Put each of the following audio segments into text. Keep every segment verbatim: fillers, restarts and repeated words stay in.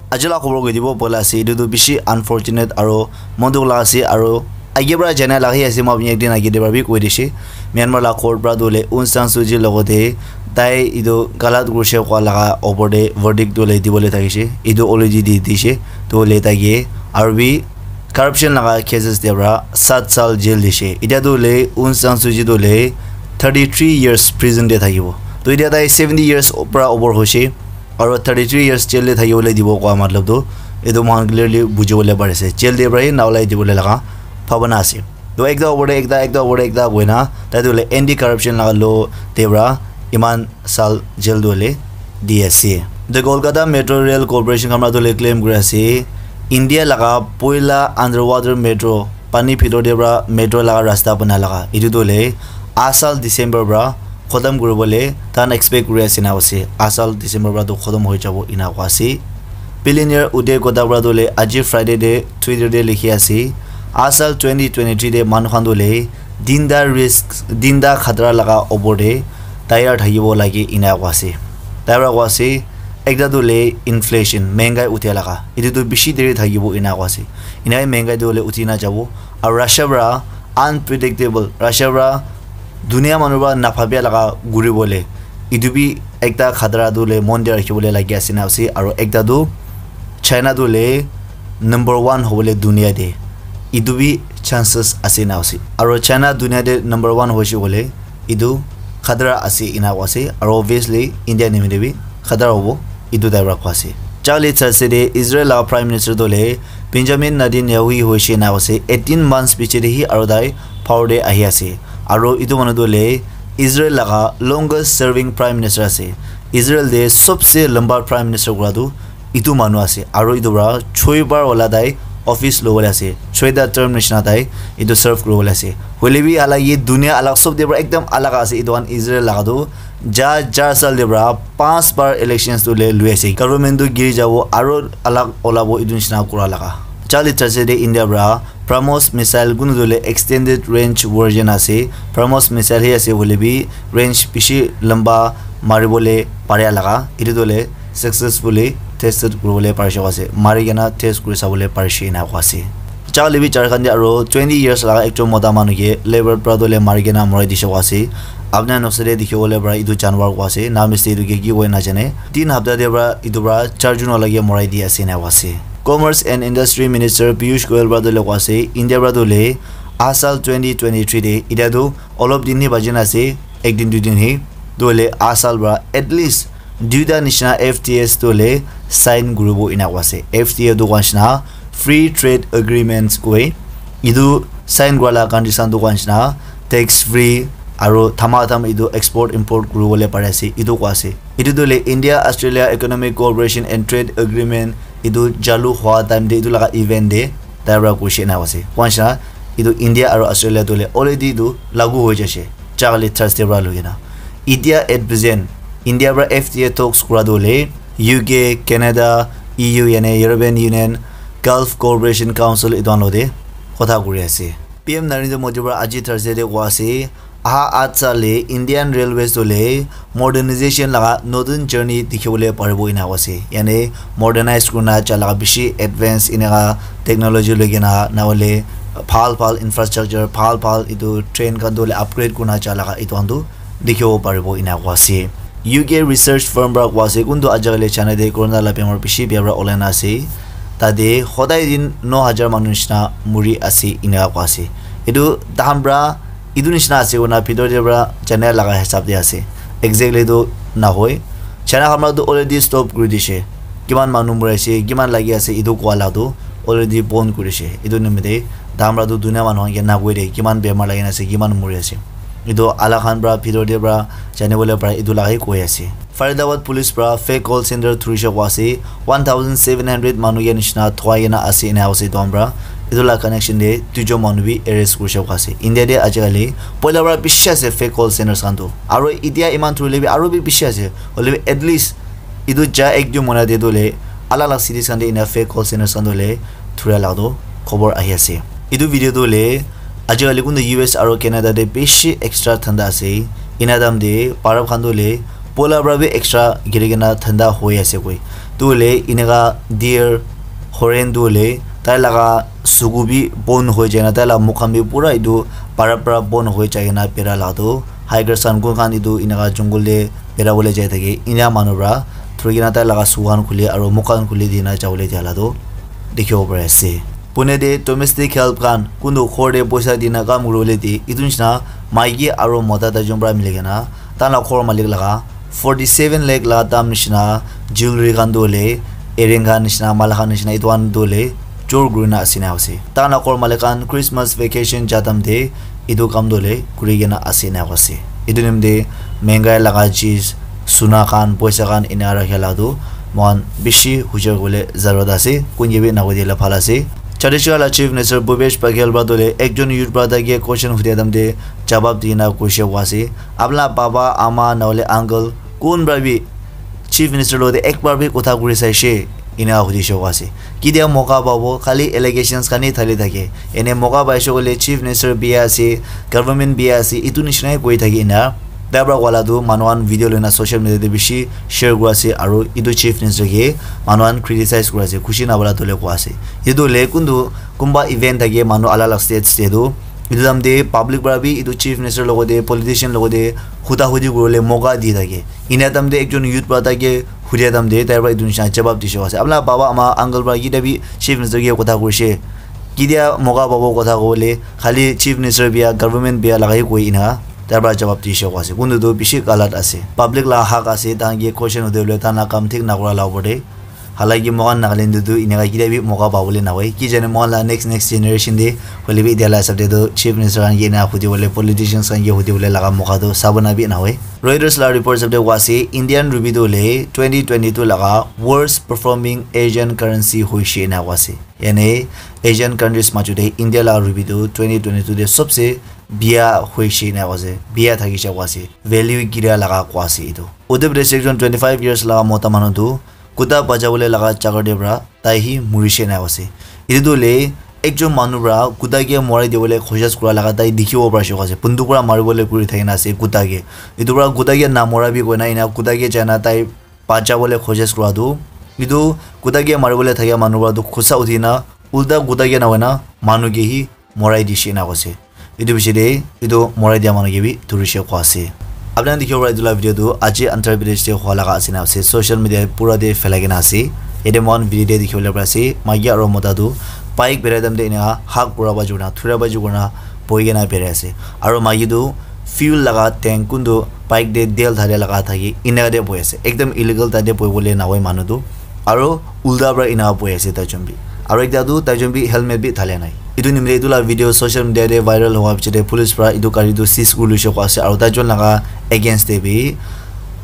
Aji la khobor koi dibo bola ase, etu tu bishi unfortunate aro mon dukh la ase, aro age pra jana la hi ase, moi apni ekdin age te pra bi koi dishe. Myanmar la court pra tu le Aung San Suu Kyi logote tai etu galat kurishe koa laga opor te verdict tu le dibole thakishe, etu already di dishe, tu le tai ke aro bi corruption laga cases te pra sat sal jail dishe. Etia tu le Aung San Suu Kyi tu le thirty three years prison te thakibo. To etia tai seventy years pra over hoishe, aro thirty three years jail te thakibole dibo koa matlab tu etu moikhan clearly bujibole pari ase. Jail te pra hi na olai dibole laga bhabana ase. To ekta opor te ekta, ekta opor te ekta koina tai tu le anti corruption laga law te pra iman sal jail tu le di ase. The Kolkata Metro Rail Corporation khan pra tu le claim kuri ase, India laga poila underwater metro pani bhitor te pra metro laga rasta bana laga etu tu le asal December pra khotom kuribole tahan expect kuri ase na ase. Asal December pra tu khotom hoi jabo ena koa ase. Billionaire Uday Kotak pra tu le aji Friday te Twitter te likhi ase, asal twenty twenty-three te manu khan tu le dinda risk, dinda khatra laga opor te tayar thakibo lage ena koa ase. Tai pra koa ase, ekta tu le inflation, mehengai uthia laga, etu tu bishi deri thakibo ena koa ase. Ena hi mehengai tu le uthi na jabo. Aro Russia pra unpredictable, Russia pra dunia manu pra nabhabia laga guribole, etu bi ekta khatra tu le mon te rakhibole lagi ase na ase. Aro ekta tu China tu le number one hobole dunia te, etu bi chances ase na ase. Aro China dunia te number one hoishe kole etu khatra ase ena koa ase, aro obviously India nimite bi khatra hobo, etu tai pra koa ase. Charlie Thursday te Israel laga Prime Minister tu le Benjamin Netanyahu hoishe na ase, eighteen months piche te hi aro tai power te ahi ase. Aro etu manu tu le Israel laga longest serving Prime Minister ase. Israel te sobse lamba Prime Minister kura tu etu manu ase, aro etu pra choi bar wala tai office lobole ase, choita term nishina tai etu serve kuribole ase. Hoile bi halaki dunia alak sob te pra ekdam alak ase. Etu khan Israel laga tu ja jar sal te pra panch bar elections tu le lui ase. Government tu giri jabo aro alak olabo etu nishina kura laga. Charlie Thursday te India pra BrahMos missile kunu tu le extended range version ase. BrahMos missile hi ase hoile bi range bishi lamba maribole paria laga. Etu tu le successfully tested kuribole parishe koa ase, mari kena test kuri sabole parishe ena koa ase. Charlie bi Jharkhand te aro twenty years laga ekjon mota manu ke leopard pra tu le mari kena morai dishe koa ase. Apni khan noksa te dikhibole para etu janwar koa ase, na misti etu ke ki koi na jane. Tin hapta te para etu para char jon wala ke morai di ase ena koa ase. Commerce and Industry Minister Piyush Goyal para tu le koa ase, India para tu le aha saal twenty twenty-three te, etia tu olop din hi bachi na ase, ek din dui din hi, tu hoile aha saal para at least duita nishina F T As tu hoile sign kuribo ena koa ase. F T A tu koa nishina Free Trade Agreements koi. Etu sign kura la condition tu koa nishina tax free aru thama tham etu export import kuribole pari ase, etu koa ase. Etu tu hoile India Australia Economic Cooperation and Trade Agreement etu chalu hua time te etu laga event te tai para koishe ena koa ase. Koa nishina etu India aru Australia tu hoile already etu lagu hoi jaise. Charli Thursday para loi kena. Etia at present, India para F T A talks kura tu hoile U K, Canada, E U, yani European Union, Gulf Cooperation Council etu khan logote kotha kuri ase. P M Narendra Modi para aji Thursday te koa ase, aha at saal te Indian Railways tu hoile modernization laga notun journey dikhibole paribo ena koa ase. Yani modernize kurina ja laga bishi advance eneka technology loi kena na hoile bhal bhal infrastructure, bhal bhal etu train khan tu hoile upgrade kurina ja laga etu khan tu dikhibo paribo ena koa ase. U K research firm para koa ase, kuntu ajikali China te corona la bemar bishi bia para ulai na ase. Tate hodai din no hajar manu nishina muri ase ena koa ase. Etu tahan para etu nishina ase koina bhitor te para jana laga hisab te ase. Exactly tu nahoi. China khan para tu already stop kuri dishe. Kiman manu muri ase, kiman lagi ase, etu koa la tu already bon kuri dishe. Etu nimite tahan para tu dunia manu khan ke nakoi de, kiman bemar lagi na ase, kiman muri ase. Etu alak khan para bhitor te para janibole para etu laga he koi ase. Faridabad police para fake call center thurishe koa ase, one thousand seven hundred manu ke nishina thwai kena ase ena koa ase etu khan para. Etu la connection te duijon manu bi arrest kurishe koa ase. India te ajikali poila para bishi ase fake call centers khan tu. Aru etia iman thurile bi aru bi bishi ase. Hoile bi at least etu ja ek dui mahina te tu hoile alak alak cities khan te ena fake call centers khan tu hoile thuria laga tu khobor ahi ase. Etu video tu hoile ajikali kuntu U S aru Canada te bishi extra thanda ase. Ena time te baraf khan tu hoile poila para bi extra giri kena thanda hoi ase koi. Tu hoile eneka deer, horen tu hoile tai laga suku bi bon hoi jai na, tai laga mukh khan bi pura etu para para bon hoi jai kena bera laga tu hikers khan kun khan etu eneka jungle te bera bole jai thake, ena manu para thuri kena tai laga suku khan khuli aro mukh khan khuli dina jabole dia la tu dikhibo pari ase. Pune te domestic help khan kuntu ghor te poisa dina kam kuribole di, etu nishina maiki aro mota duijon para mili kena tai laga ghor malik laga forty seven lakh laga dam nishina jewelry khan tu hoile earring khan nishina, mala khan nishina, etu khan tu hoile jor kurina ase na ase. Tai laga ghor malik khan Christmas vacation ja time te etu kam tu hoile kuri kena ase na ase. Etu nimite mengai laga cheez, suna khan, poisa khan ena rakha la tu moikhan bishi hujar kuribole zarurat ase. Kun ke bi na koi dile bhal ase. Chhattisgarh la Chief Minister Bhupesh Baghel para tu hoile ekjon youth para tai ke question hudia time te jawab dina koise koa ase, "Apna baba, ama, na hoile uncle kun para bi Chief Minister logote ek bar bi kotha kuri saishe?" Ena hudishe koa ase. Ketia moka pabo, khali allegations khan hi thali thake. Ene moka paishe koile Chief Minister bia ase, government bia ase, etu nishina hi koi thake ena. Tai para koa la tu manu khan video loina social media te bishi share kuri ase, aro etu Chief Minister ke manu khan criticize kuri ase, khushi nabala tu hoile koa ase. Etu hoile kuntu kunba event thake manu alak alak states te tu, etu time te public para bi etu Chief Minister logote, politician logote huda hudi kuribole moka di thake. Ena time te ekjon youth para tai ke hudia time te tai para etu nishina jawab dishe koa ase, "Apna baba, ama, uncle para ketia bi Chief Minister ke kotha kurishe? Ketia moka pabo kotha kobole? Khali Chief Minister bia, government bia laga hi koi," ena tai para jawab dishe koa ase. Kuntu tu bishi galat ase. Public la hak ase, tai khan ke question hudibole, tai khan la kam thik na kura la opor te. Halaki moikhan Nagaland te tu eneka ketia bi moka pabole nahoi. Ki jane moikhan la next, next generation te hoile bi etia la hisab te tu Chief Minister khan ke ena hudibole, politicians khan ke hudibole laga moka tu sabona bi nahoi. Reuters la report hisab te koa ase, Indian rupee tu hoile twenty twenty-two laga worst performing Asian currency hoishe ena koa ase. Yane Asian countries majo te India la rupee tu twenty twenty-two te sobse bia hoishe ena koa ase, bia thakishe koa ase. Value gira laga koa ase etu. Uttar Pradesh ekjon twenty-five years laga mota manu tu kuta bajabole laga jaga te para tai hi murishe ena ase. Etu tu hoile ekjon manu para kuta ke morai dibole koshish kura laga tai dikhibo parishe koa ase. Bunduk para maribole kuri thakina ase kuta ke. Etu para kuta ke namora bi koina ena kuta ke jaina tai bajabole koshish kura tu, etu kuta ke maribole thakia manu para tu khusa uthina ulta kuta ke nahoina manu ke hi morai dishe ena koa ase. Etu piche te etu morai dia manu ke bi dhurishe koa ase. Apni khan dikhibo para etu la video tu aji Andhra Pradesh te hua laga ase na ase. Social media pura te phelai kena ase. Yate moikhan video te dikhibo le pari ase, maiki aro mota tu bike berai time te ena hak pura baji kurina, thura baji kurina bohi kena berai ase. Aro maiki tu fuel laga tank kuntu bike te tel dhali laga thaki ena te bohi ase. Ekdam illegal tate bohibole nahoi manu tu. Aro ulta para ena bohi ase taijon bi. Aro ekta tu taijon bi helmet bi thalia nai. Etu nimite etu la video social media te viral howa piche te police para etu gari tu seize kuri loishe koa ase, aro taijon laga against te bi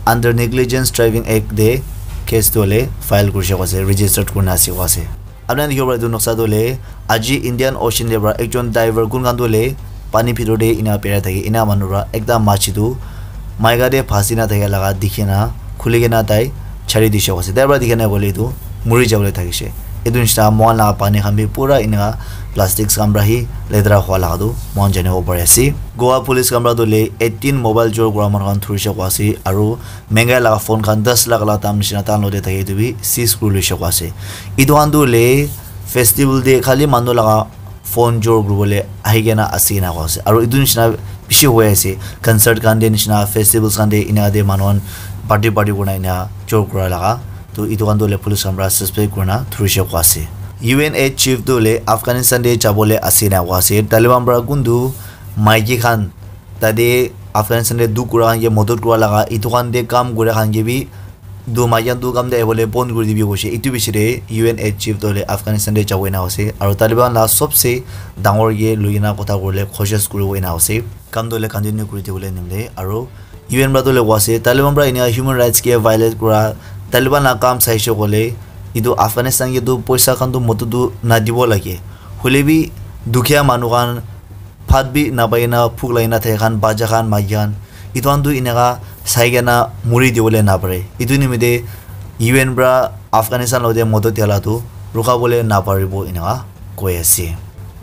under Negligence Driving Act te case tu hoile file kurishe koa ase, registered kurina ase koa ase. Apni khan dikhibo para etu noksa tu hoile aji Indian Ocean te para ekjon diver kun khan tu hoile pani bhitor te ena berai thake, ena manu para ekta machi tu maika te phasi na thaka laga dikhi na khuli kena tai chari dishe koa ase. Tai para dikhi na koile etu muri jabole thakishe. Etu nishina moikhan laga pani khan bi pura eneka plastics khan para hi letera hua laga tu moikhan janibo pari ase. Goa police khan para tu hoile eighteen mobile jor kura manu khan dhurishe koa ase, aro mengai laga phone khan das lakh laga dam nishina tai khan logote thake etu bi seize kuri loishe koa ase. Etu khan tu hoile festival te khali manu laga phone jor kuribole ahi kena ase ena koa ase. Aro etu nishina bishi hoi ase. Concert khan te nishina, festivals khan te ena te manu khan party party kurina ena jor kura laga. To etu khan tu hoile police khan para suspect kurina dhurishe koa ase. U N aid chief tu hoile Afghanistan te jabole ase ena koa ase. Taliban para kuntu maiki khan tate Afghanistan te dukh kura khan ke modot kura laga, etu khan te kam kura khan ke bi tu maiki khan tu kam te ahibole bon kuri dibi koishe. Etu piche te U N aid chief tu hoile Afghanistan te jabo ena ase. Aro Taliban la sobse dangor ke loi kena kotha kuribole koshish kuribo ena ase. Kam tu hoile continue kuri dibole nimile. Aro U N para tu hoile koa ase, Taliban para enia human rights ke violate kura, Taliban la kam saishe koile, etu Afghanistan ke tu poisa khan tu modot tu nadibo lage. Hoile bi dukhia manu khan bhat bi napai na, bhuk lagi na thaka khan, bacha khan, maiki khan, etu khan tu eneka sai kena muri dibole napare. Etu nimite U N para Afghanistan logote modot dia la tu rukha bole naparibo eneka koi ase.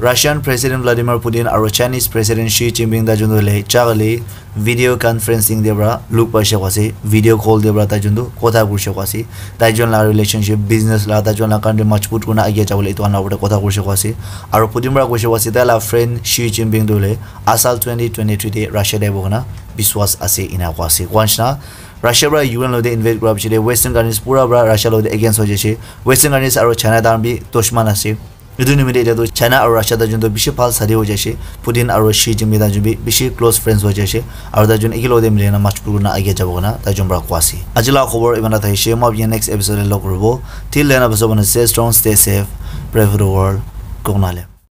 Russian President Vladimir Putin aro Chinese President Xi Jinping tai jun tu hoile chakali video conferencing te pra luk paishe kwa ase, video call te pra tai jun tu kotha kurishe kwa ase. Tai jun la relationship, business la, tai jun la country majbut kurina aage jabole etu khan la upor te kotha kurishe kwa ase. Aro Putin pra kurishe kwa ase, tai la friend Xi Jinping tu hoile asal twenty twenty-three te Russia te ahibo koina biswas ase ena kwa ase. Kwa nishina Russia pra U N lo te invade kura piche te Western countries pura pra Russia lo te against ho jaise. Western countries aro China tai khan bi dushman ase. Etu nimite etia tu China aro Russia tai jun tu bishi bhal sadi ho jaise. Putin aro Xi Jinping tai jun bi bishi close friends ho jaise. Aro tai jun eke logote mili na majbut kurina aage jabo koina tai jun pra kwa ase. Aji la khobor iman ta thakishi. Moi apni next episode te log kuribo. Till then, apni sob stay strong, stay safe, pray for the world. Kok nale.